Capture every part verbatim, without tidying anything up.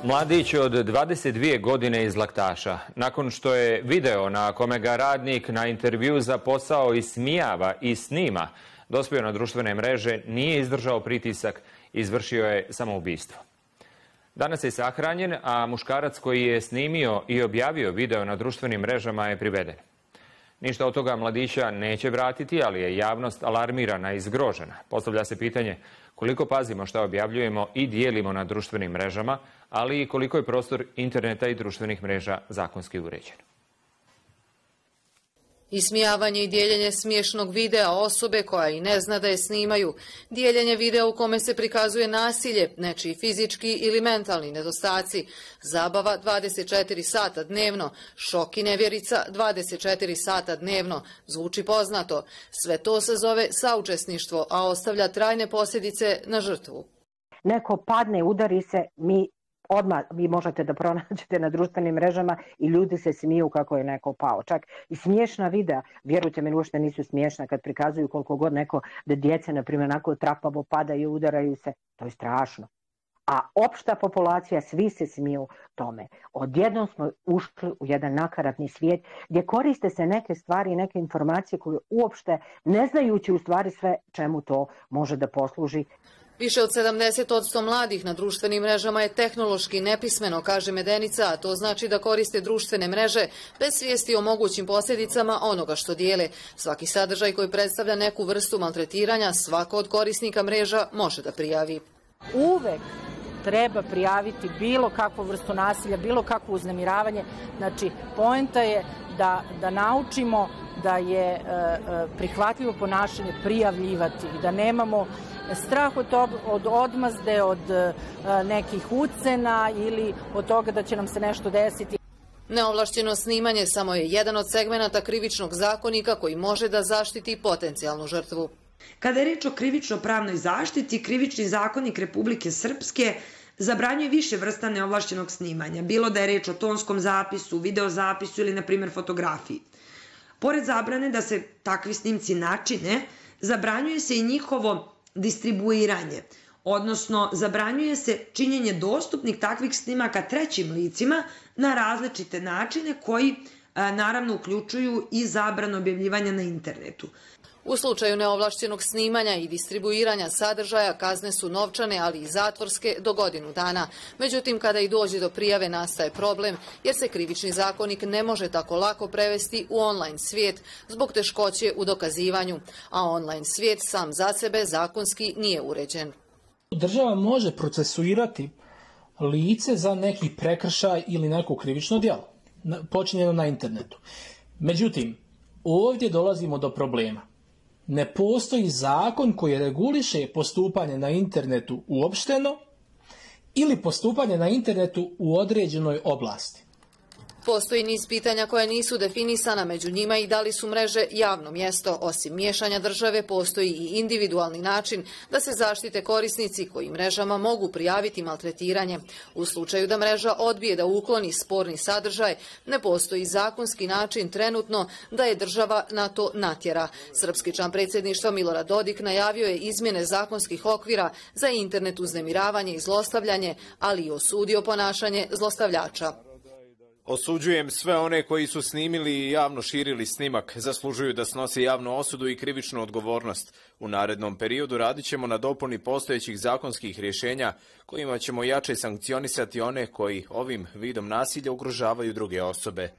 Mladić od dvadeset dvije godine iz Laktaša. Nakon što je video na kome ga radnik na intervju za posao ismijava i snima, dospio na društvene mreže, nije izdržao pritisak i izvršio je samoubistvo. Danas je sahranjen, a muškarac koji je snimio i objavio video na društvenim mrežama je priveden. Ništa od toga mladića neće vratiti, ali je javnost alarmirana i zgrožena. Postavlja se pitanje koliko pazimo šta objavljujemo i dijelimo na društvenim mrežama, ali i koliko je prostor interneta i društvenih mreža zakonski uređen. Ismijavanje i dijeljenje smiješnog videa osobe koja i ne zna da je snimaju, dijeljenje videa u kome se prikazuje nasilje, nečiji fizički ili mentalni nedostaci, zabava dvadeset četiri sata dnevno, šok i nevjerica dvadeset četiri sata dnevno, zvuči poznato. Sve to se zove saučesništvo, a ostavlja trajne posljedice na žrtvu. Neko padne, udari se, mi odmah vi možete da pronađete na društvenim mrežama i ljudi se smiju kako je neko pao. Čak i smiješna videa, vjerujte mi, uopšte nisu smiješna kad prikazuju koliko god neko da djece, na primjer, onako trapavo padaju, udaraju se. To je strašno. A opšta populacija, svi se smiju tome. Odjednom smo ušli u jedan nakaradni svijet gdje koriste se neke stvari i neke informacije koje uopšte ne znajući u stvari sve čemu to može da posluži. Više od sedamdeset posto mladih na društvenim mrežama je tehnološki nepismeno, kaže Medenica, a to znači da koriste društvene mreže bez svijesti o mogućim posljedicama onoga što dijele. Svaki sadržaj koji predstavlja neku vrstu maltretiranja, svako od korisnika mreža može da prijavi. Uvek treba prijaviti bilo kakvu vrstu nasilja, bilo kakvo uznemiravanje. Znači, poenta je da, da naučimo da je e, prihvatljivo ponašanje prijavljivati i da nemamo strah od, od odmazde, od e, nekih ucena ili od toga da će nam se nešto desiti. Neovlašćeno snimanje samo je jedan od segmenata krivičnog zakonika koji može da zaštiti potencijalnu žrtvu. Kada je reč o krivično-pravnoj zaštiti, Krivični zakonik Republike Srpske zabranjuje više vrsta neovlašćenog snimanja, bilo da je reč o tonskom zapisu, videozapisu ili, na primjer, fotografiji. Pored zabrane da se takvi snimci načine, zabranjuje se i njihovo distribuiranje, odnosno zabranjuje se činjenje dostupnih takvih snimaka trećim licima na različite načine koji naravno uključuju i zabranu objavljivanja na internetu. U slučaju neovlašćenog snimanja i distribuiranja sadržaja kazne su novčane, ali i zatvorske do godinu dana. Međutim, kada i dođe do prijave nastaje problem, jer se Krivični zakonik ne može tako lako prevesti u online svijet zbog teškoće u dokazivanju, a online svijet sam za sebe zakonski nije uređen. Država može procesuirati lice za neki prekršaj ili neko krivično djelo počinjeno na internetu. Međutim, ovdje dolazimo do problema. Ne postoji zakon koji reguliše postupanje na internetu uopšteno ili postupanje na internetu u određenoj oblasti. Postoji niz pitanja koja nisu definisana, među njima i da li su mreže javno mjesto. Osim miješanja države, postoji i individualni način da se zaštite korisnici koji mrežama mogu prijaviti maltretiranje. U slučaju da mreža odbije da ukloni sporni sadržaj, ne postoji zakonski način trenutno da je država na to natjera. Srpski član predsjedništva Milorad Dodik najavio je izmjene zakonskih okvira za internet uznemiravanje i zlostavljanje, ali i osudio ponašanje zlostavljača. Osuđujem sve one koji su snimili i javno širili snimak. Zaslužuju da snose javnu osudu i krivičnu odgovornost. U narednom periodu radit ćemo na dopuni postojećih zakonskih rješenja kojima ćemo jače sankcionisati one koji ovim vidom nasilja ugrožavaju druge osobe.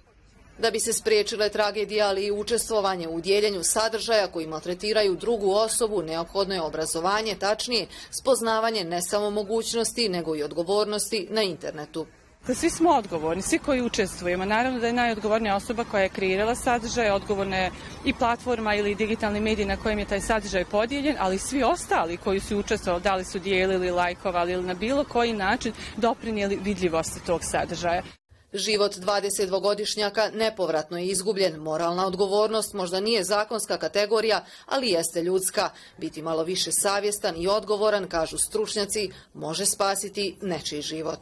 Da bi se spriječile tragedije, ali i učestvovanje u dijeljenju sadržaja koji maltretiraju drugu osobu, neophodno je obrazovanje, tačnije spoznavanje ne samo mogućnosti, nego i odgovornosti na internetu. Svi smo odgovorni, svi koji učestvujemo. Naravno da je najodgovornija osoba koja je kreirala sadržaj, odgovorna je i platforma ili digitalni medij na kojem je taj sadržaj podijeljen, ali svi ostali koji su učestvovali, da li su dijelili, lajkovali ili na bilo koji način doprinijeli vidljivosti tog sadržaja. Život dvadesetdvogodišnjaka nepovratno je izgubljen. Moralna odgovornost možda nije zakonska kategorija, ali jeste ljudska. Biti malo više savjestan i odgovoran, kažu stručnjaci, može spasiti nečiji život.